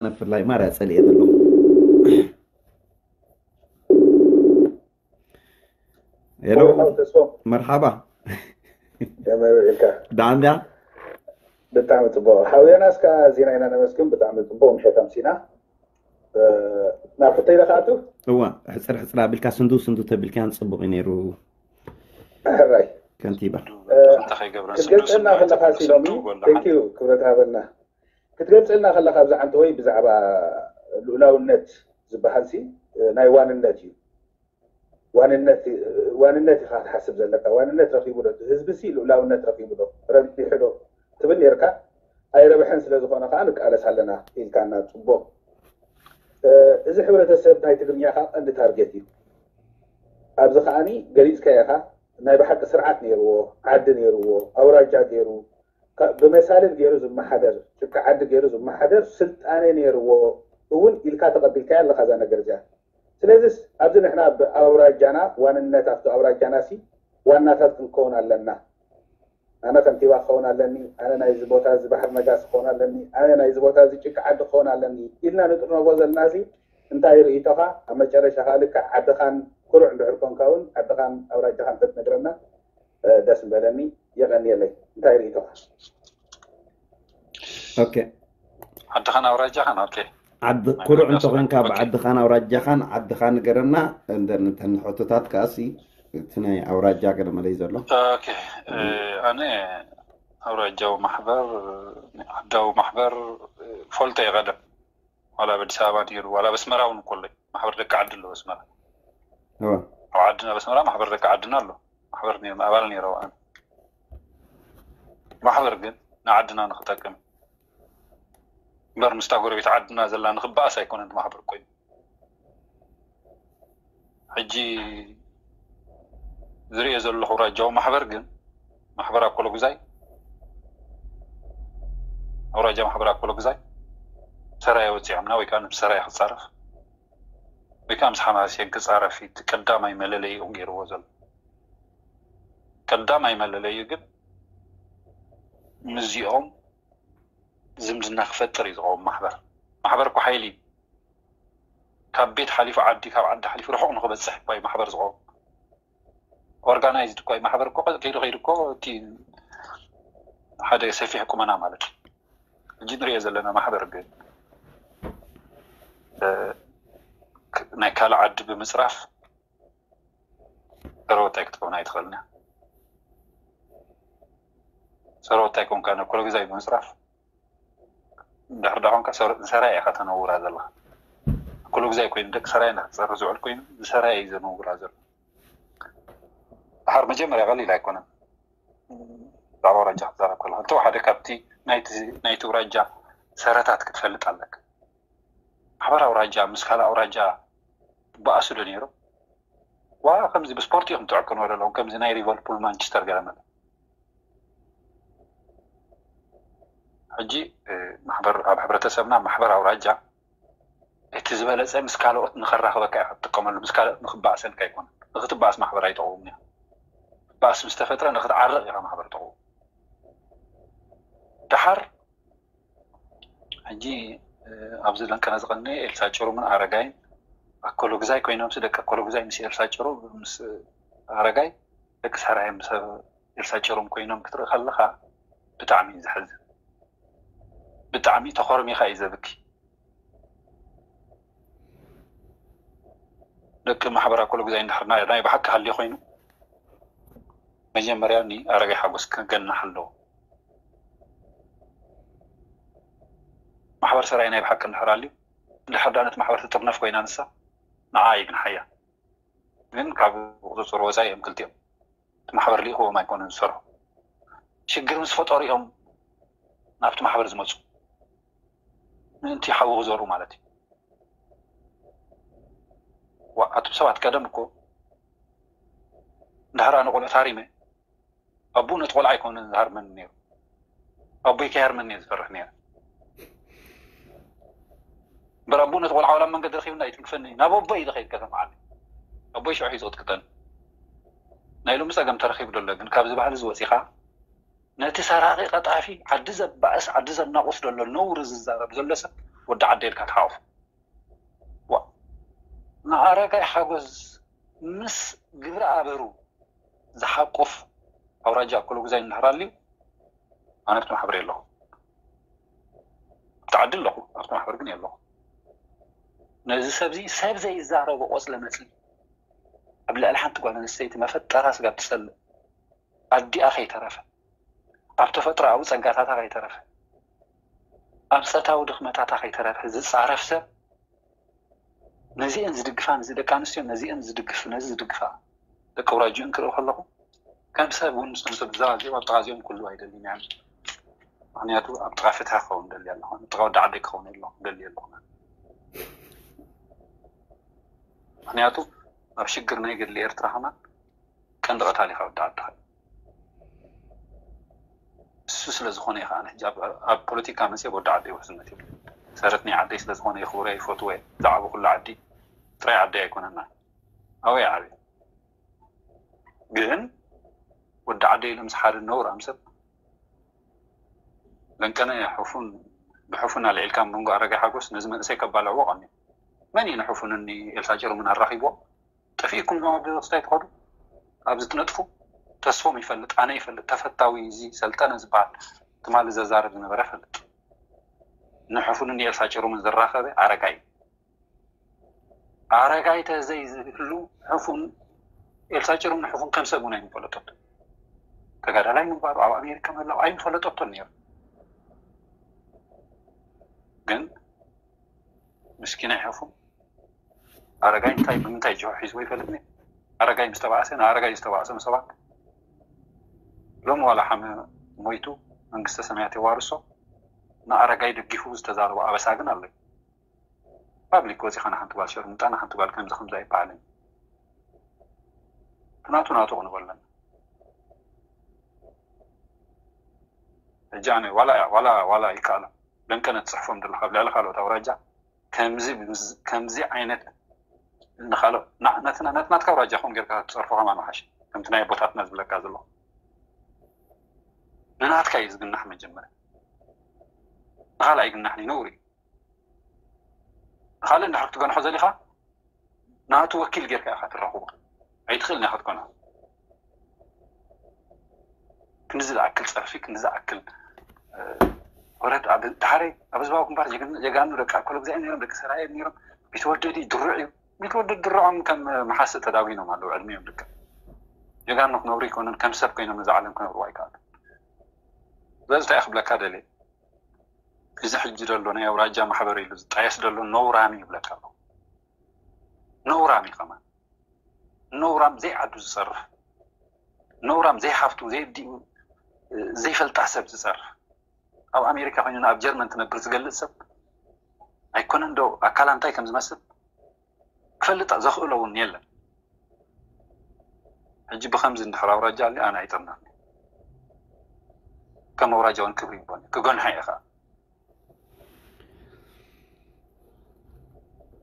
ብፍላይ ማርያ ጸሊኤ ዘለኹ። ሄሎ፣ መርሓባ። ደሓን ድያ? ብጣዕሚ ጽቡቕ ሓውየና፣ እስካ ዜና ኢና ነመስግን። ብጣዕሚ ጽቡቕ ምሸት ኣምሲና። ናብ ሕቶ ኢለ ክኣቱ? እዋ፣ ሕጽር ሕጽር ኣቢልካ ስንዱ ስንዱ ተቢልካን ጽቡቕ እዩ ነይሩ። ሕራይ። ከንቲባ። ክትገልጸልና ከለካ ሲሎሚ፣ ቴንኪዩ ክብረት ሃበና። ክትገልጸልና ከለካ ብዛዕባ እንተወይ ብዛዕባ ልኡላውነት ዝበሃል ሲ ናይ ዋንነት እዩ። ዋንነት ዋንነት ኢኻ ክትሓስብ ዘለካ። ዋንነት ረኺቡ ዶ ህዝቢ ሲ ልኡላውነት ረኺቡ ዶ ረቢሑ ዶ ትብል ነርካ። ኣይረብሐን ስለ ዝኾነ ከዓ ንቃለስ ኣለና ኢልካና። ጽቡቕ። እዚ ሕብረተሰብ ናይ ትግርኛ ከዓ ቀንዲ ታርጌት እዩ። ኣብዚ ከዓኒ ገሊጽካ ኢኻ። ናይ ብሓቂ ስርዓት ነይርዎ፣ ዓዲ ነይርዎ፣ ኣውራጃ ገይሩ፣ ብመሳልል ገይሩ ዝመሓደር፣ ጭቃ ዓዲ ገይሩ ዝመሓደር ስልጣነ ነይርዎ እውን ኢልካ ተቐቢልካያ ኣለኻ እዛ ነገር እዚኣ። ስለዚስ ኣብዚ ንሕና ብኣውራጃና ዋንነት ኣብቲ ኣውራጃና ሲ ዋናታት ክንከውን ኣለና። ኣነ ከንቲባ ክኸውን ኣለኒ፣ ኣነ ናይዚ ቦታ እዚ ባሕሪ ነጋሲ ክኸውን ኣለኒ፣ ኣነ ናይዚ ቦታ እዚ ጭቃ ዓዲ ክኸውን ኣለኒ ኢልና ንጥርነቦ ዘለና ሲ እንታይ ርእይቶኻ? ኣብ መጨረሻ ከዓ ልክዕ ዓድኻን ኩሩዕ እንድሕር ኮንካ እውን ዓድኻን ኣውራጃኻን ተትነግረና ደስ ምበለኒ። የቐንየለይ። እንታይ ርእይቶኻ? ኦኬ። ዓድኻን ኣውራጃኻን፣ ኦኬ። ዓዲ ኩሩዕ እንተኾንካ ብዓድኻን ኣውራጃኻን ዓድኻ ንገረና። እንተን ሕቶታት ከኣሲ እቲ ናይ ኣውራጃ ገለ መለይ ዘሎ። ኦኬ። ኣነ ኣውራጃዊ ማሕበር፣ ዓዳዊ ማሕበር ፈልጦ እየ ቀደም። ዋላ ኣብ ኣዲስ ኣበባ ነይሩ፣ ዋላ ኣብ ኣስመራ እውን እኮ ኣሎ። ማሕበር ደቂ ዓዲ ኣሎ ኣስመራ። ኣብ ዓድና ኣብ ኣስመራ ማሕበር ደቂ ዓድና ኣሎ። ማሕበር ነይሩ፣ ኣባል ነይረ። ማሕበር ግን ንዓድና ንክጠቅም እምበር ምስታ ጎረቤት ዓድና ዘላ ንክበኣስ ኣይኮነን ማሕበር ኮይኑ። ሕጂ ዝርእዮ ዘለኹ ኣውራጃዊ ማሕበር ግን ማሕበር ኣኮሎጉዛይ፣ ኣውራጃ ማሕበር ኣኮሎጉዛይ ሰራየ ወፂዖምና ወይ ከዓ ምስ ሰራየ ክፃረፍ ወይ ከዓ ምስ ሓማሴን ክፃረፍ እቲ ቀዳማይ መለለይኡ ገይርዎ ዘሎ። ቀዳማይ መለለይኡ ግን ምስዚኦም ዝምድና ክፈጥር እዩ ዝኸውን ማሕበር። ማሕበር እኮ ሓይሊ እዩ። ካብ ቤት ሓሊፉ ዓዲ፣ ካብ ዓዲ ሓሊፉ ርሑቕ ንክበፅሕ እኳ እዩ ማሕበር ዝኸውን። ኦርጋናይዝድ እኳ እዩ ማሕበር እኮ። ከይዱ ከይዱ እኮ እቲ ሓደ ሰፊሕ ቁመና ማለት እዩ። እጂ ንሪኦ ዘለና ማሕበር ግን ናይ ካልእ ዓዲ ብምፅራፍ ሰረወታይ ክትከውን ኣይትኽእልን እያ። ሰረወታይ ኮንካ ንኮሎግዛይ ብምፅራፍ እንድሕር ዳ ኮንካ ንሰራይ ኢኻ ተነውራ ዘለኻ። ኮሎግዛይ ኮይኑ ደቂ ሰራይ ንክፀርፍ ዝውዕል ኮይኑ ንሰራይ እዩ ዘነውራ ዘሎ። ድሓር መጀመርያ ቀሊል ኣይኮነን። ብዛዕባ ኣውራጃ ክትዛረብ ከለካ እንተ ሓደ ካብቲ ናይቲ ውራጃ ሰረታት ክትፈልጥ ኣለካ። ማሕበር ኣውራጃ ምስ ካልእ ኣውራጃ ትበኣሱ ዶ ነይሩ? ዋ ከምዚ ብስፖርት ኢኹም ትዕቅንዎ ዘለኹም ከምዚ ናይ ሊቨርፑል ማንቸስተር ገለ መለ። ሕጂ ማሕበር ኣብ ሕብረተሰብና ማሕበር ኣውራጃ እቲ ዝበለፀ ምስ ካልኦት ንኸራኽበካ ኢኻ ትጥቀመሉ፣ ምስ ካልኦት ንኽበኣሰልካ ኣይኮነን። ንኽትበኣስ ማሕበር ኣይጠቕውም እያ። ባእስ ምስ ተፈጥረ ንኽትዓርቕ ኢኻ ማሕበር ጠቕው። ደሓር ሕጂ ኣብዚ ለንቀና ዝቐነ ኤልሳ ጭሩምን ኣረጋይን ኣኮሎግዛይ ኮይኖምሲ ደቂ ኣኮሎግዛይ ምስ ኤልሳ ጭሩ ምስ ኣረጋይ ደቂ ሰራየ ምስ ኤልሳ ጭሩም ኮይኖም ክትርኢ ከለኻ ብጣዕሚ እዩ ዘሕዝን። ብጣዕሚ ተኾርሚኻ እዩ ዘብኪ። ደቂ ማሕበር ኣኮሎግዛይ እንድሕር ናይ ብሓቂ ሃልዩ ኮይኑ መጀመርያ ንኣረጋይ ሓጎስ ክገናሕ ኣለዎ። ማሕበር ሰራይ ናይ ብሓቂ እንድሕር ኣልዩ እንድሕር ዳ ነቲ ማሕበር ትጥርነፍ ኮይና ንሳ ንዓ ይግንሓያ። ግን ካብ ቁፅፅር ወፃኢ እዮም ክልቲኦም። እቲ ማሕበር ልኢኽዎም ኣይኮኑን ዝሰርሑ። ሽግር ምስ ፈጠሩ እዮም ናብቲ ማሕበር ዝመፁ ምእንቲ ሓዊ ክዘሩ ማለት እዩ። ኣቱም ሰባት ቀደም እኮ እንድሕር ኣነ ቆልዑ ታሪመ ኣቦኡ ነቲ ቆልዓ ኣይኮነን ዝሃርመኒ ነይሩ። ኣቦይ ከይሃርመኒ እየ ዝፈርሕ ነይረ። እምበር ኣቦኡ ነቲ ቆልዓ ዋላ መንገዲ ረኺብና ይትንክፈኒ ናብ ኣቦይ እዩ ዝኸይድ ከተማ ዓዲ። ኣቦይ ሽዑ እዩ ዝቕጥቅጠኒ። ናይ ሎሚ ፀገም ተረኺቡ ደሎ ግን ካብዚ ባህሊ እዚ ወፂኻ ነቲ ሰራቒ ቀጣፊ ዓዲ ዘባእስ ዓዲ ዘናቑስ ደሎ ነውሪ ዝዛረብ ዘሎ ሰብ ወዲ ዓደ ኢልካ ትሓቑፍ። ዋ፣ ንኣረጋይ ሓጎስ ምስ ግብረ ኣበሩ ዝሓቁፍ ኣውራጃ ኣኮሎጉዛይ እንድሕር ኣልዩ፣ ኣነ ኣብቲ ማሕበር የለኹ። ኣብቲ ዓዲ ኣለኹ፣ ኣብቲ ማሕበር ግን የለኹ። ነዚ ሰብዚ ሰብ ዘይዛረቦ ቆጽለ መጽሊ፣ ኣብ ልዕሊ ሓንቲ ጓል ኣንስተይቲ መፈጠራ ስጋ ትጸልእ፣ ኣዲኣ ከይተረፈ፣ ኣብ ተፈጥሮኣዊ ጸጋታታ ከይተረፈ፣ ኣብ ጸታዊ ድኽመታታ ከይተረፈ ዝጻረፍ ሰብ፣ ነዚአን ዝድግፋ፣ ነዚ ደቂ ኣንስትዮ ነዚአን ዝድግፍ፣ ነዚ ዝድግፋ ደቂ ኣውራጅኡ እንክርኢ ከለኹ፣ ከም ሰብ እውን ምስቶም ሰብ እዛ እዚኦም ኣብ ጥቓ እዚኦም ክህልዉ ኣይደልን እየ። ምኽንያቱ ኣብ ጥቓ ፍትሒ ክኸውን ደሊ ኣለኹ፣ ኣብ ጥቓ ወዲ ዓደይ ክኸውን የለ-፣ ደሊ ኣለኹ። ምኽንያቱ ኣብ ሽግር ናይ ገድሊ ኤርትራ ከማን ቀንዲ ቀታሊ ካብ ወዲ ዓድኻ እዩ። እሱ ስለ ዝኾነ እዩ ከዓ ሕጂ ኣብ፣ ኣብ ፖለቲካ መፅየ ወዲ ዓደይ ውሕስነት ይብሉ። ሰረት ናይ ዓደይ ስለ ዝኾነ የኽብሮ ይፈትዎ እየ። ዝዓበኹሉ ዓዲ ጥራይ ዓደይ ኣይኮነና። ኣበይ ዓብየ ግን ወዲ ዓደይ ኢሉ ምስ ሓደ ነውራም ሰብ ለንቀነ ሕፉን ብሕፉን ኣልዒልካ መንጎ ኣረጋይ ሓጎስ ነዚ መንእሰይ ከባልዕዎ ቀንዩ። መን እዩ ንሕፉንኒ ኤልሳ ጭሩምን ኣራኺብዎ? ጠፊእኩም ዞም ኣብ ደረስታይ ትኸዱ ኣብዚ ትነጥፉ ተስፎም ይፈልጥ፣ ኣነ ይፈልጥ፣ ተፈታዊ እዚ ሰልጠነ ዝበሃል ትማሊ ዘዛርብ ዝነበረ ፈልጥ። ንሕፉንን ኤልሳ ጭሩምን ዘራኸበ ኣረጋይ እዩ። ኣረጋይ ተዘይ ዝህሉ ሕፉን ኤልሳ ጭሩም ንሕፉን ከም ሰብ እውን ኣይምፈለጦም። ተጋዳላይ ምንባሩ ኣብ ኣሜሪካ ምህላው ኣይምፈለጠቶን ነይሩ። ግን ምስኪናይ ሕፉን ኣረጋይ እንታይ ብምንታይ ጅሆ ሒዝዎ ይፈልጥኒ። ኣረጋይ ምስ ተባእሰ ንኣረጋይ ዝተባእሰም ሰባት ሎም ዋላ ሓመ ሞይቱ መንግስተ ሰማያት የዋርሶ ንኣረጋይ ደጊፉ ዝተዛረቦ ኣበሳ ግን ኣሎ። ፓብሊክ ወፂኻ ንሓንቲ ጓል ሸርሙጣ ንሓንቲ ጓል ከምዚ ከምዚ ኣይበሃልን። ናቱ ናቱ ክንበለን ሕጂ ኣነ ዋላ ዋላ ዋላ ይከኣሎ ለንቀነ ትፅሕፎም ዘለካ ኣብ ልዕሊ ካልኦት ኣውራጃ ከምዚ ከምዚ ዓይነት ንካልኦ ናትና ናትካ ኣውራጃ ከም ጌርካ ትፀርፎ ከማን ወሓሽ ከምቲ ናይ ኣቦታትና ዝብለካ ዘለኹ ንናትካ እዩ ዝግናሕ መጀመርያ ንካልኣይ ግናሕ ነውሪ ካልእ እንድሕር ክትገንሖ ዘሊኻ ናቱ ወኪል ጌርካ ኢኻ ትራኽቦ ኣይትኽእልን ኢኻ ክትኮና ክንዲ ዝኣክል ፀርፊ ክንዲ ዝኣክል ወረት ኣብ ድሓረይ ኣብ ህዝባዊ ግንባር ጀጋኑ ደቂ ኣኮሎ ግዛይ ነሮም ደቂ ሰራየ ነሮም ቢትወደድ ድሩዕ እዩ ቢትወደድ ድሩዖም ከም መሓስእ ተዳዊኖም ኣለዉ ዕድሚኦም ልክዕ ጀጋኑ ክነብሩ ይኮኑን ከም ሰብ ኮይኖም እዛ ዓለም ክነብሩ ኣይከኣሉ ስለዚ እንታይ ክብለካ ደልየ እዚ ሕጂ ዘሎ ናይ ኣውራጃ ማሕበር ኢሉ ዝጣየስ ዘሎ ነውራም ይብለካ ኣሎ። ነውራም እዩ ከማን ነውራም ዘይዓዱ ዝፀርፍ ነውራም ዘይሓፍቱ ዘይዲኡ ዘይፈልጣ ሰብ ዝፀርፍ ኣብ ኣሜሪካ ኮይኑ ኣብ ጀርመን ትነብር ዝገልፅ ሰብ ኣይኮነን ዶ ኣካላ እንታይ ከም ዝመስል ክፈልጥ ዘኽእሎ እውን የለን። ሕጂ ብኸምዚ እንድሕር ኣውራጃ ኣለ ኣነ ኣይጠምናኒ ከም ኣውራጃ እውን ክብሪ ይቦኒ ክገንሖ እየ ከዓ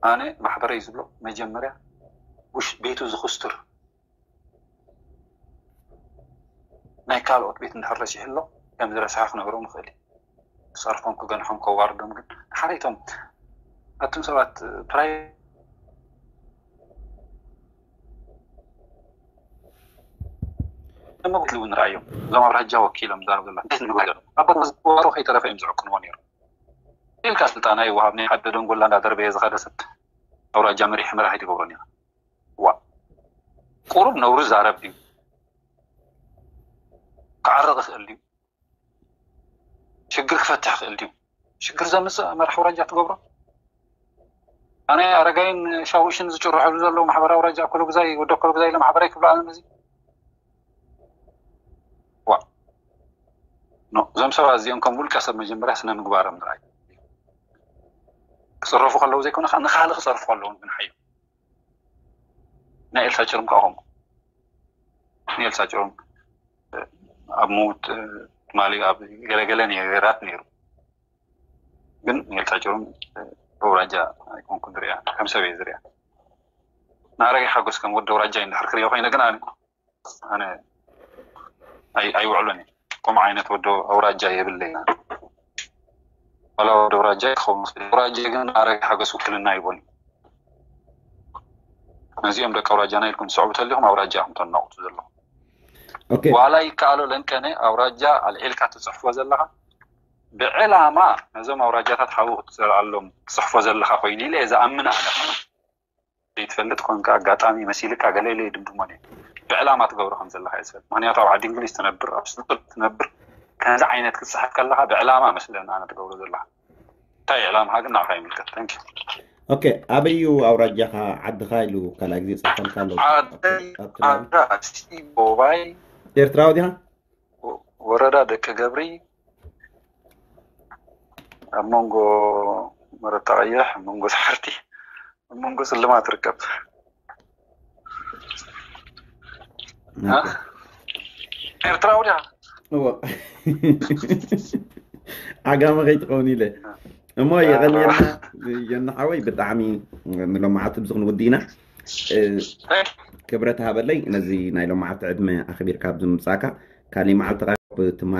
ኣነ ማሕበረይ ዝብሎ መጀመርያ ውሽ ቤቱ ዝኽስቱር ናይ ካልኦት ቤት እንድሕር ረሲሑ ኣሎ ከም ዝረስሐ ክነግሮም ይኽእል እዩ ክፀርፎም ክገንሖም ከዋርዶም ግን ሓረይቶም ኣቱም ሰባት ፕራይ እሞ ክትልው ንርኣዮም እዞም ኣብ ራጃ ወኪሎም ዛረብ ዘሎ እንታይ ንግባር ኣቦ ዝዋሮ ከይተረፈ እዮም ዝዕቅንዎ ነይሩ ኢልካ ስልጣና ይወሃብ ናይ ሓደ ደንጎላ እንዳደርበየ ዝኸደ ሰብ ኣውራጃ መሪሒ መራሒ ትገብሮ ነይራ ዋ ቁሩብ ነውሪ ዛረብ ድዩ ክዓርቕ ይኽእል ድዩ ሽግር ክፈትሕ ይኽእል ድዩ ሽግር ዘምፅእ መራሕ ኣውራጃ ትገብሮ ኣነ ኣረጋይን ሻውሽን ዝጭርሐሉ ዘለዉ ማሕበራዊ ኣውራጃ ኮሎግዛይ ወደ ኮሎግዛይ ኢለ ማሕበራይ ክብሎ ኣነ ነዚ ዋ እዞም ሰባት እዚኦም ከም ውልቀ ሰብ መጀመርያ ስነ ምግባሮም ንርኣይ ክፅረፉ ከለዉ ዘይኮነ ከዓ ንካልእ ክፀርፉ ከለዉ ንግንሓዮም ናይ ኤልሳ ጭርም ከዓ ከምኡ ንኤልሳ ጭርም ኣብ ምውት ትማሊ ኣብ ገለገለ ነገራት ነይሩ ግን ንኤልሳ ጭርም በውራጃ ኣይኮንኩ ዝሪያ ከም ሰብ እየ ዝሪያ ንኣረጋይ ሓጎስ ከም ወዲ ኣውራጃ እንድሕር ክሪኦ ኮይነ ግን ኣነ ኣይውዕሎን እየ ከምኡ ዓይነት ወዲ ኣውራጃ የብለይ ዋላ ወዲ ኣውራጃ ክኸውን ይኽእል። ኣውራጃ ግን ኣረጋ ሓጎስ ውክልና ይቦን። ነዚኦም ደቂ ኣውራጃና ኢልኩም ትስዕቡ ተሊኹም ኣውራጃ ኢኹም ተናቑቱ ዘለኹም። ኦኬ ዋላ ይከኣሎ ለንቀነ ኣውራጃ ኣልዒልካ ትፅሕፎ ዘለኻ ብዕላማ ነዞም ኣውራጃታት ሓዊ ክትዘርኣሎም ትፅሕፎ ዘለኻ ኮይኑ ኢለ እየ ዝኣምን ኣነ። ዘይትፈልጥ ኮንካ ኣጋጣሚ መሲልካ ገለ ኢለ ይድምድሞን እየ። ብዕላማ ትገብሮ ከም ዘለኻ እየ ዝፈልጥ። ምክንያቱ ኣብ ዓዲ እንግሊዝ ትነብር፣ ኣብ ስንቅል ትነብር፣ ከምዚ ዓይነት ክትፅሕፍ ከለኻ ብዕላማ መስለኒ ኣነ ትገብሮ ዘለኻ። እንታይ ዕላምኻ ግን ንዓኻ ይምልከት። Thank you። ኦኬ ኣበዩ ኣውራጃኻ ዓድኻ ኢሉ ካልኣይ ግዜ ፅሕፈልካ ኣሎ ዓደይ ኣብ ትግራይ ዓዳ ሲቦባይ ኤርትራዊ ዲኻ ወረዳ ደቂ ገብሪ ኣብ መንጎ መረታ ቀይሕ ኣብ መንጎ ሳሕርቲ ኣብ መንጎ ስልማት ትርከብ። ኤርትራዊ ዲኻ? እዎ ዓጋመ ከይትኸውን ኢለ እሞ የቐንየልና። የናሓወይ ብጣዕሚ ንሎማዓት ብዙ ክንውዲ ኢና። ክብረት ሃበለይ ነዚ ናይ ሎማዓት ዕድመ ኣኽቢርካ ኣብዚ ምምፃእካ። ካሊእ መዓልቲ ኸዓ ብትማ